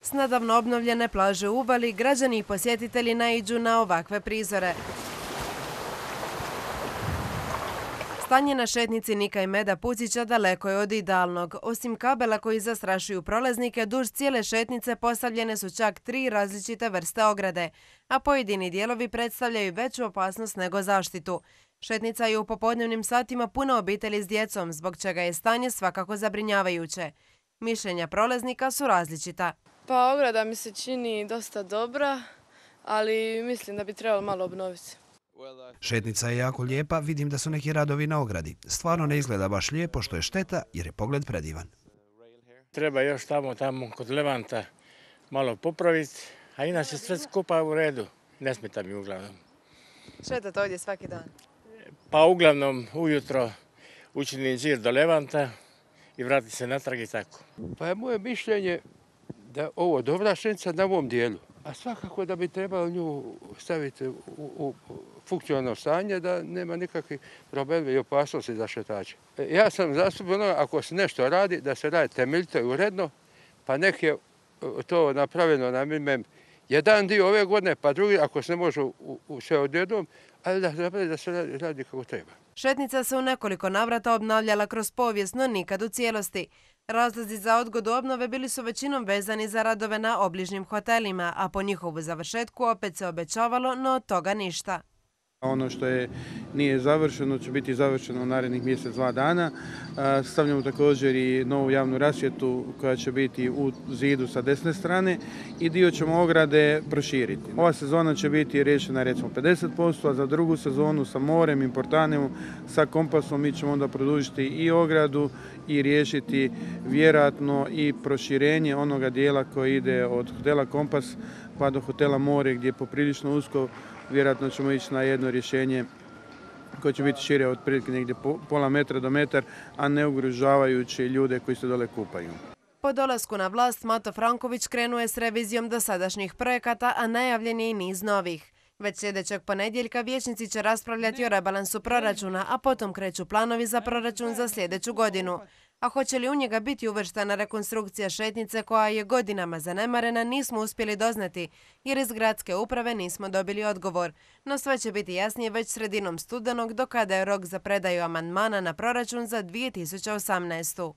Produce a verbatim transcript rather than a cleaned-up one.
S nedavno obnovljene plaže u Uvali građani i posjetitelji naiđu na ovakve prizore. Stanje na šetnici Nika i Meda Pucića daleko je od idealnog. Osim kabela koji zastrašuju prolaznike, duž cijele šetnice postavljene su čak tri različite vrste ograde, a pojedini dijelovi predstavljaju veću opasnost nego zaštitu. Šetnica je u popodnevnim satima puna obitelji s djecom, zbog čega je stanje svakako zabrinjavajuće. Mišljenja prolaznika su različita. Pa ograda mi se čini dosta dobra, ali mislim da bi trebalo malo obnoviti. Šetnica je jako lijepa, vidim da su neki radovi na ogradi. Stvarno ne izgleda baš lijepo, što je šteta jer je pogled predivan. Treba još tamo, tamo kod Levanta malo popraviti, a inače sve skupa u redu. Ne smeta mi uglavnom. Šetate ovdje svaki dan? Pa uglavnom ujutro učinim žir do Levanta i vrati se natrag i tako. Pa je moje mišljenje da ovo dobra šetnica na ovom dijelu, a svakako da bi trebalo nju staviti u, u funkcionalno stanje da nema nikakvih problema i opasnosti za šetače. Ja sam zastupio ono, ako se nešto radi, da se radi temeljito i uredno, pa nek je to napravljeno na minimum jedan dio ove godine, pa drugi, ako se ne može u, u sve odjednom, ali da, da se radi, radi kako treba. Šetnica se u nekoliko navrata obnavljala kroz povijest, no nikad u cijelosti. Razlozi za odgodu obnove bili su većinom vezani za radove na obližnjim hotelima, a po njihovu završetku opet se obećavalo, no od toga ništa. Ono što je nije završeno će biti završeno u narednih mjesec, dva dana. Stavljamo također i novu javnu rasvjetu koja će biti u zidu sa desne strane i dio ćemo ograde proširiti. Ova sezona će biti riješena recimo pedeset posto, a za drugu sezonu sa morem, importanem, sa kompasom mi ćemo onda produžiti i ogradu i riješiti vjerojatno i proširenje onoga dijela koji ide od hotela Kompas pa do hotela More gdje je poprilično usko. Vjerojatno ćemo ići na jedno rješenje koje će biti šire od prilike negdje pola metra do metar, a ne ugrožavajući ljude koji se dole kupaju. Po dolasku na vlast Mato Franković krenuo je s revizijom dosadašnjih projekata, a najavljen je i niz novih. Već sljedećeg ponedjeljka vijećnici će raspravljati o rebalansu proračuna, a potom kreću planovi za proračun za sljedeću godinu. A hoće li u njega biti uvrštena rekonstrukcija šetnice koja je godinama zanemarena, nismo uspjeli doznati, jer iz gradske uprave nismo dobili odgovor. No sve će biti jasnije već sredinom studenog, do kada je rok za predaju amandmana na proračun za dvije tisuće osamnaestu.